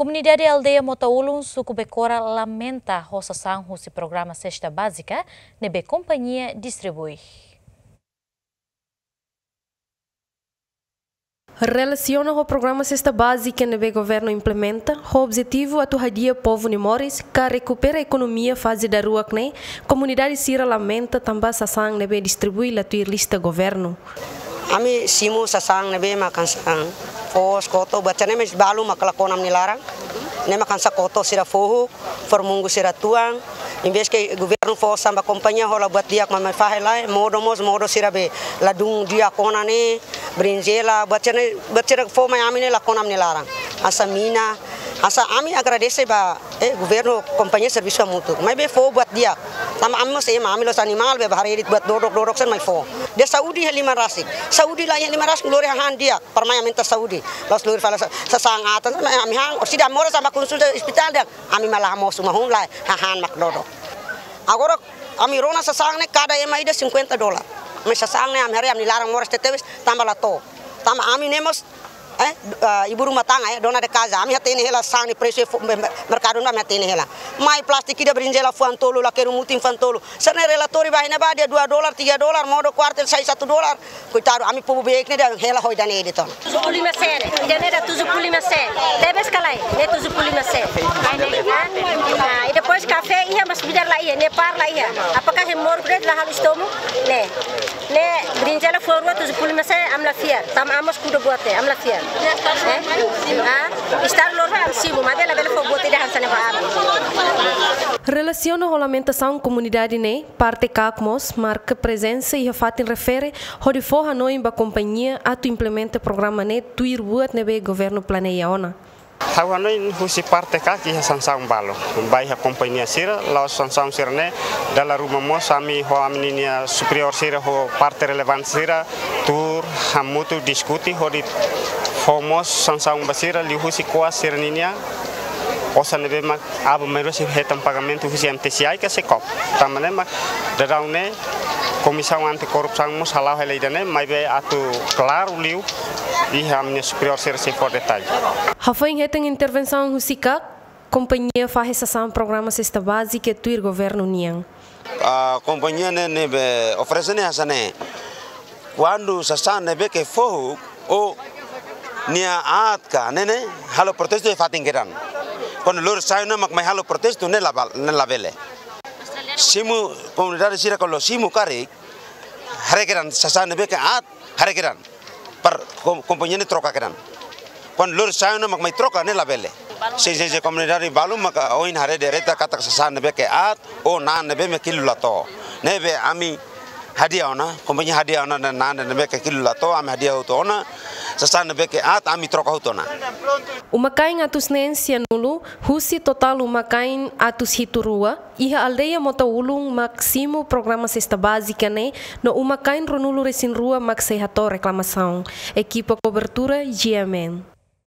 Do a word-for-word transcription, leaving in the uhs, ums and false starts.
Komunidade aldeia Mota Ulun, suku Bekora, lamenta ho sasán husi programa Sesta Bázika ne'ebé kompañia distribui. Relasiona ho programa Sesta Bázika ne'ebé governu implementa, ho objetivu atu hadi'a povu nia moris, ka rekupera ekonomia faze daruak ne'e, komunidade sira lamenta tanba sasán ne'ebé distribui la tuir lista governu. Ami simu sasán ne'ebé mak hanesan foos, koto, buat sira-ne'e maibé balu mak la kona ami-nia laran. Ne'e mak hanesan koto sira foho, formunggu sira tuan. Em vez ke governu fó sasán ba kompañia hola buat di'ak, maibé fahe lae, modo mós, modo sira be ladún di'ak ona ne'e, brinjela, buat sira-ne'e, buat sira fó mai ami ne'e la kona ami-nia laran. Hanesan mina, hanesan ami agradese ba, eh, governu, kompañia servisu hamutuk. Maibé fó buat di'ak. Tanba ami mós ema, ami la'ós animál, be ba haree de'it buat dodok, dodok sira mai fó. Dehan saúde iha liman rasik. Saúde la iha liman rasik, lori hahán di'ak. Para mai aumenta saúde. La'ós lori fali sa-, sasán atan, ami han, orsida moras tanba konsulta ospitál dehan, ami mak la hamoos uma hun lai, hahán mak dodok. Agora, ami rona sasán ne'e kada ema ida cinquenta dólar. Maibé sasán ne'e ami haree ami-nia laran moras tebetebes, tanba la to'o. Tanba ami ne'e mós, eh, ah, ibu rumah tangga, eh, dona de casa. Ami hatene hela sasán ne'e presu fo-, me-, me-, merkadu ne'e ami hatene hela. Mai plástiku ida brinjela fuan tolu, lakeru mutin fuan tolu. Sira-ne'e relatóriu ba iha ne'ebá dehan dua dólar, tiga dólar, modo kuartel sai satu dólar. Koitadu, ami povu beibeik ne'e dehan hela ho ida-ne'e de'it ona. Tujuh puluh lima sen. Ida-ne'e dehan tujuh puluh lima sen. Tebes ka lae? Ne'e tujuh puluh lima sen. Ah, e depois kafé iha, maibé bidar la iha, ne'e par la iha. Apakah hemu de'it la halo estomak? Ne'e. Ne'e brinjela fuan rua tujuh puluh lima sen, ami la fiar. Tanba ami mós kuda buat ne'e, ami la fiar. Eh? Ah, estar lor ba ami simu, maibé labele fó buat ida hanesan ne'e ba ami. Relasiona ho lamentasaun komunidade ne'e, parte KAK mós marka prezensa iha fatin refere hodi fó hanoin ba kompañia atu implementa programa ne'e tuir buat ne'ebé governu planeia ona. Ha'u hanoin husi parte KAK iha sansaun balu ba iha kompañia sira, la'ós sansaun sira-ne'e, dala ruma mós ami ho ami-nia superiór sira ho parte relevante sira tuur hamutuk diskute hodi fó mós sansaun ba sira liuhusi ko'as sira-ninia osan ne'ebé mak aban-bainrua sei hetan pagamentu husi MTCI ka SEKOP. Tanba ne'e mak daudaun ne'e Komisaun Anti Korrupsaun mós hala'o hela ida-ne'e, maibé atu klaru liu iha ami-nia superiór sira sei fó detalle. Hafoin hetan intervensaun husi KAK, kompañia fahe sasán programa Sesta Bázika tuir governu nian. Ah, kompañia ne'e, ne'ebé oferese ne'e hanesan ne'e. Kuandu sasán ne'ebé ke foho, ó-nia aat ka ne'e ne'e halo protestu iha fatin kedan. Kuandu lori sai ona mak mai halo protestu ne'e la bal-, ne'e labele. Simu komunidade sira kuandu simu karik, haree kedan sasán ne'ebé ke aat, haree kedan. Para kom-, kompañia ne'e troka kedan. Kuandu lori sai ona mak mai troka ne'e labele. Sin, sin, sin, komunidade balu maka ohin haree direta katak sasán ne'ebé ke aat, ou na'an ne'ebé mak kilu la to'o. Ne'ebé ami hadi'a ona, kompañia hadi'a ona na'an ne'ebé ke kilu la to'o, ami hadi'a hotu ona, sasán ne'ebé ke aat, ami troka hotu ona. Uma-kain atus neen sianulu, husi totál uma-kain atus hitu rua, iha aldeia Mota Ulun mak simu programa Sesta Bázika ne'e, no uma-kain ruanulu resin rua mak sei hato'o reklamasaun. Ekipa kobertura, GMN.